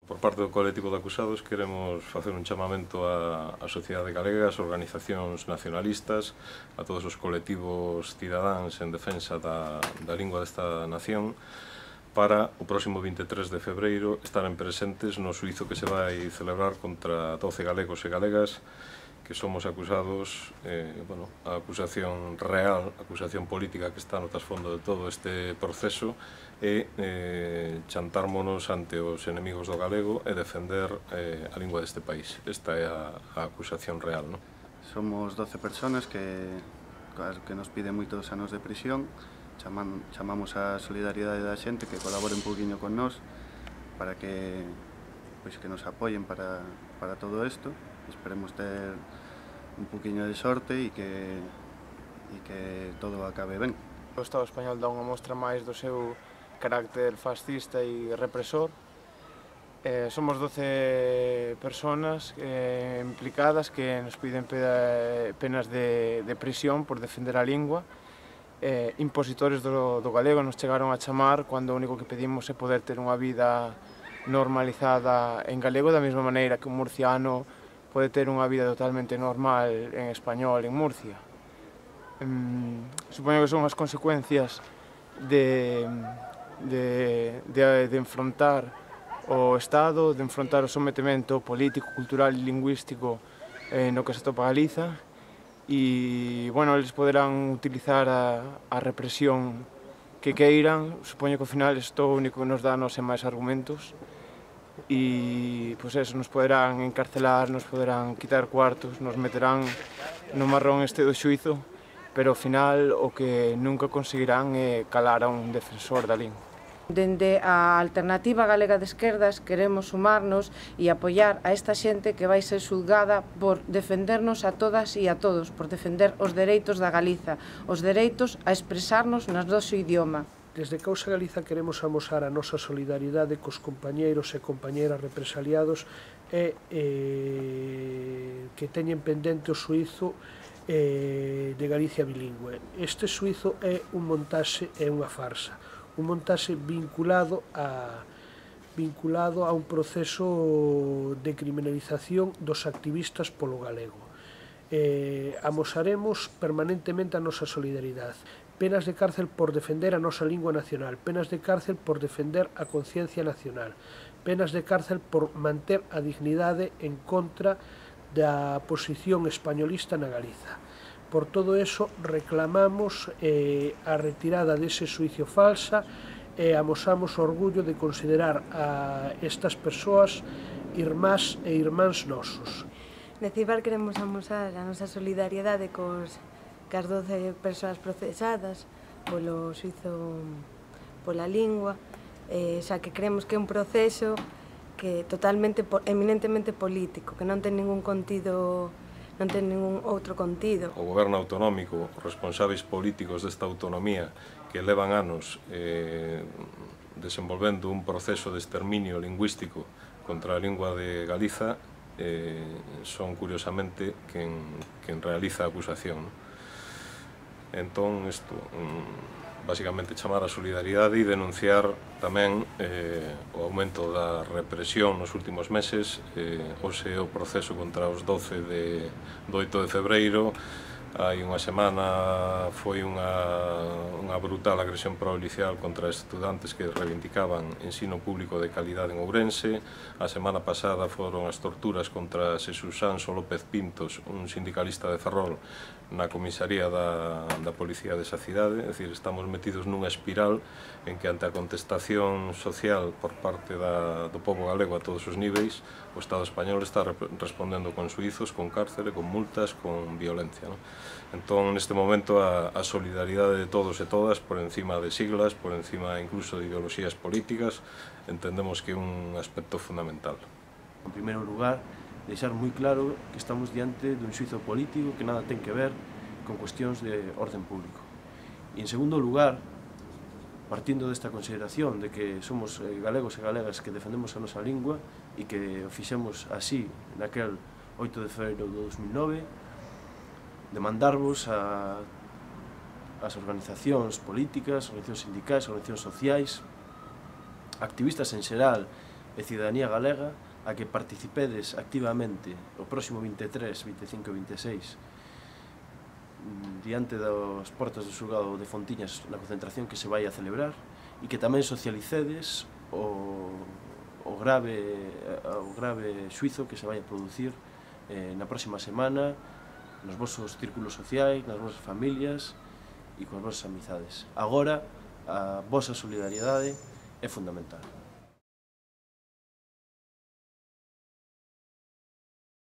Por parte do colectivo de acusados queremos facer un chamamento á sociedade galega, ás organizacións nacionalistas, a todos os colectivos cidadáns en defensa da lingua desta nación, para o próximo 23 de febreiro estaren presentes no xuízo que se vai celebrar contra 12 galegos e galegas que somos acusados, a acusación real, a acusación política que está no trasfondo de todo este proceso e chantármonos ante os enemigos do galego e defender a lingua deste país. Esta é a acusación real, non? Somos 12 personas que nos piden moitos anos de prisión. Chamamos a solidariedade da xente que colabore un poquinho con nós para que nos apoyen para todo isto. Esperemos ter un poquinho de sorte e que todo acabe ben. O Estado español dá unha mostra máis do seu carácter fascista e represor. Somos 12 personas implicadas que nos piden penas de prisión por defender a lingua. Impositores do galego nos chegaron a chamar cando o único que pedimos é poder ter unha vida normalizada en galego, da mesma maneira que un murciano pode ter unha vida totalmente normal en español en Murcia. Supoño que son as consecuencias de enfrontar o Estado, de enfrontar o sometemento político, cultural e lingüístico no que se atopa Galiza, e, eles poderán utilizar a represión que queiran. Supoño que ao final isto o único que nos dá é máis argumentos e, nos poderán encarcelar, nos poderán quitar cuartos, nos meterán no marrón este do xuízo, pero ao final o que nunca conseguirán é calar a un defensor da lingua. Dende a Alternativa Galega de Esquerdas queremos sumarnos e apoiar a esta xente que vai ser xulgada por defendernos a todas e a todos, por defender os dereitos da Galiza, os dereitos a expresarnos no noso idioma. Desde Causa Galiza queremos amosar a nosa solidaridade cos compañeiros e compañeiras represaliados e que teñen pendente o xuízo de Galicia bilingüe. Este xuízo é un montaxe e unha farsa. Un montaxe vinculado a un proceso de criminalización dos activistas polo galego. Amosaremos permanentemente a nosa solidaridade. Penas de cárcel por defender a nosa lingua nacional, penas de cárcel por defender a conciencia nacional, penas de cárcel por manter a dignidade en contra da posición españolista na Galiza. Por todo eso reclamamos a retirada dese xuicio falsa e amosamos o orgullo de considerar a estas persoas irmás e irmáns nosos. Neste CIBAR queremos amosar a nosa solidariedade cas 12 persoas procesadas polo xuizo pola lingua, xa que creemos que é un proceso que eminentemente político, que non ten ningún contido, non ten ningún outro contido. O goberno autonómico, os responsáveis políticos desta autonomía que levan anos desenvolvendo un proceso de exterminio lingüístico contra a lingua de Galiza son curiosamente quen realiza a acusación. Entón, isto, basicamente chamar a solidaridade e denunciar tamén o aumento da represión nos últimos meses. Hoxe o proceso contra os 12 do 8 de febreiro. Hai unha semana foi unha brutal agresión policial contra estudantes que reivindicaban ensino público de calidade en Ourense. A semana pasada foron as torturas contra Xesús Sanso López Pintos, un sindicalista de Ferrol, na comisaría da policía desa cidade. É dicir, estamos metidos nunha espiral en que ante a contestación social por parte do pobo galego a todos os niveis, o Estado español está respondendo con suizos, con cárcere, con multas, con violencia. Entón, neste momento, a solidaridade de todos e todas, por encima de siglas, por encima incluso de ideoloxías políticas, entendemos que é un aspecto fundamental. En primeiro lugar, deixar moi claro que estamos diante dun xuízo político que nada ten que ver con cuestións de orden público. E, en segundo lugar, partindo desta consideración de que somos galegos e galegas que defendemos a nosa lingua e que o fixemos así naquel 8 de febreiro de 2009, demandarvos as organizacións políticas, organizacións sindicais, organizacións sociais, activistas en xeral e cidadanía galega a que participedes activamente o próximo 23, 25 e 26 diante das portas do xulgado de Fontiñas na concentración que se vai a celebrar e que tamén socialicedes o grave xuizo que se vai a producir na próxima semana nos vosos círculos sociais, nas vosas familias e coas vosas amizades. Agora, a vosa solidariedade é fundamental.